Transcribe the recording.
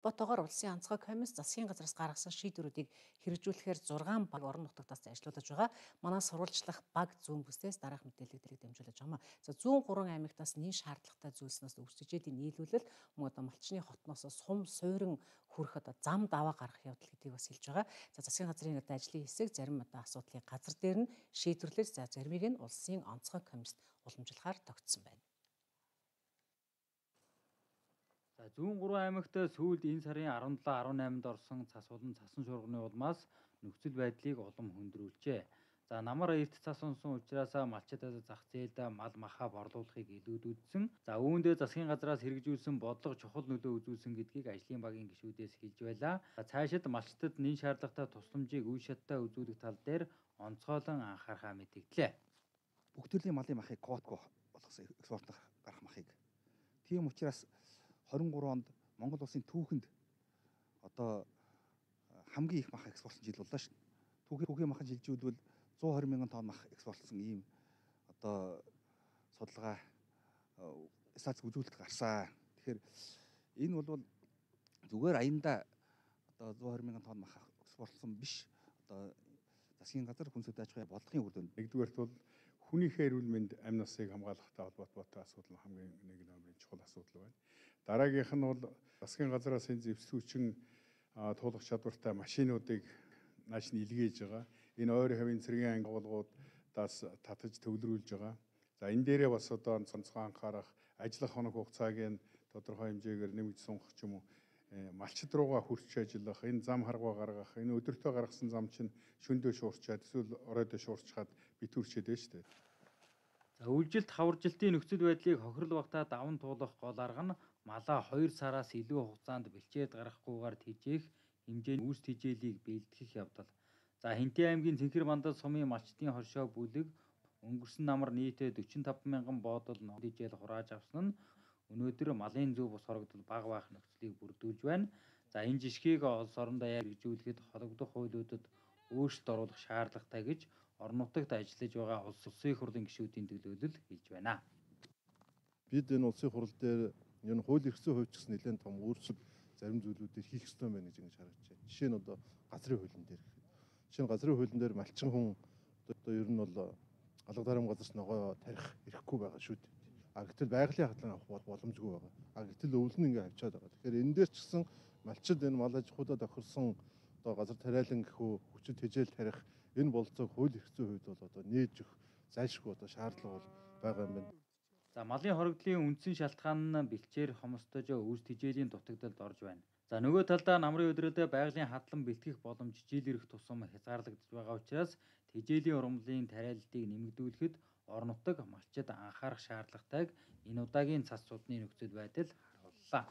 Ботогоор улсын онцгой комисс засгийн газраас гаргасан шийдвэрүүдийг хэрэгжүүлэхээр 6 баг орон нутгаас ажиллаулж байгаа. Манай сурвалжлах баг зүүн бүсдээс дараах мэдээллүүдийг дамжуулж байгаа. За зүүн 3 аймагтаас нийт шаардлагатай зүйлснээс үсгэжээдийн нийлүүлэл мөн малчны хотноос сум суурин хүрэх зам даваа гаргах явдал гэдгийг бас хэлж байгаа. За засгийн газрын ажлын хэсэг зарим асуудлыг газар дээр нь шийдвэрлэж заримыг нь улсын онцгой комиссд уламжлахаар тогтсон байна. За зүүн 3 аймагт сүүлд энэ сарын 17-18-нд орсон цас болон цасан шуурганы улмаас нөхцөл байдлыг улам хөндрүүлжээ. За намар эрт цас унсан учраас малчдад зах зээлд мал махаа борлуулахыг илүүдсэн. За үүндээ засгийн газраас хэрэгжүүлсэн бодлого чухал нөлөө үзүүлсэн гэдгийг ажлын багийн гишүүдээс хэлж байлаа. За цаашид малчдад нэн шаардлагатай тусламжийг үе шаттай үзүүлэх тал дээр онцгойлон анхаарахаа мэдгдлээ. Бүх төрлийн малын махыг квотго болгосон экспортлох гарах махыг. Тийм учраас 23 онд Монгол улсын түүхэнд одоо хамгийн их мах экспортлсон жил боллоо шүү. Түүхийн махын шилжүүлбэл 120 мянган тонн мах экспортлсон ийм одоо судалгаа статистик үзүүлэлт гарсан. Тэгэхээр энэ бол зүгээр аяндаа одоо 120 мянган тонн мах экспортлсон биш. Одоо засгийн газар хүнсэд аж ахуйн бодлогын үр дүнд. Нэгдүгээрт бол хүнийхээ эрүүл мэнд амь насыг хамгаалахтай холбоотой асуудал нь хамгийн нэг номерын чухал асуудал байна. Дараагийнх нь бол засгийн газраас энэ зэвсгүүчин туулах чадвартай машинуудыг нааш нь илгээж байгаа. Энэ ойрын хавийн цэргийн агуулгуудаас татаж төвлөрүүлж байгаа. За энэ дээрээ бас одоо онцгой анхаарах, ажиллах хоног хугацааг нь тодорхой хэмжээгээр нэмж сунгах ч юм уу, малчид руугаа хүрч ажиллах, энэ зам харгаа гаргах, энэ өдөртөө гаргасан зам чинь шөндөө шуурчаад эсвэл оройдоо шуурчхаад битүүрчээд байна шүү дээ. За үлжилт хаваржилтын нөхцөл байдлыг хохирол багтаа даван туулах гол арга нь малаа 2 сараас илүү хугацаанд бэлчээд гаргахгүйгээр тэжээх хэмжээний үүс тэжээлийг бэлтгэх явдал. За Хинтээ аймгийн Цэнхэр мандал сумын малчдын хоршоо бүлэг өнгөрсөн намар нийтээ 45 мянган боодол ногоон тэжээл хурааж авсан нь өнөөдөр малын зөв бус хорогдол бага байх нөхцөлийг бүрдүүлж байна. За энэ жишгийг улс орон даяар хэрэгжүүлэхэд холбогдох хуулиудад өөрчлөлт оруулах шаардлагатай гэж орон нутагт ажиллаж байгаа улсын хурлын гишүүдийн төлөөлөл хэлж байна. Бид энэ улсын хурал дээр энэ хууль эрхцэн хувьд ч гэсэн нэлээд том өөрчлөлт зарим зүйлүүдээр хийх ёстой байна гэж ингэж харагдаж байна. Жишээ нь одоо газрын хуулийн дээр. Жишээ нь газрын хуулийн дээр малчин хүн одоо ер нь бол алга дарам газарт ногоо тарих эрхгүй байгаа шүү дээ. Гэтэл байгалийн хатлан авах боломжгүй байгаа. Гэтэл өвөл нь ингээ авчаад байгаа. Тэгэхээр энэ дээр ч гэсэн малчид энэ мал аж ахуйдаа тохирсон одоо газар тариалан гэхүү хүчин тэжээл тарих энэ болцоог хууль эрхцэн хувьд бол одоо нээж өгөх зайлшгүй одоо шаардлага бол байгаа юм байна. За малын хорогдлын үндсэн шалтгаан нь бэлчээр хомсдож үүс тэжээлийн дутагдалд орж байна. За нөгөө талдаа намрын өдрөдөө байгалийн хадлан бэлтгэх боломж жил ирэх тусам хязгаарлагдж байгаа учраас тэжээлийн ургамлын тариаллыг нэмэгдүүлэхэд орон нутаг малчид анхаарах шаардлагатайг энэ удаагийн цас судны нөхцөл байдал харууллаа.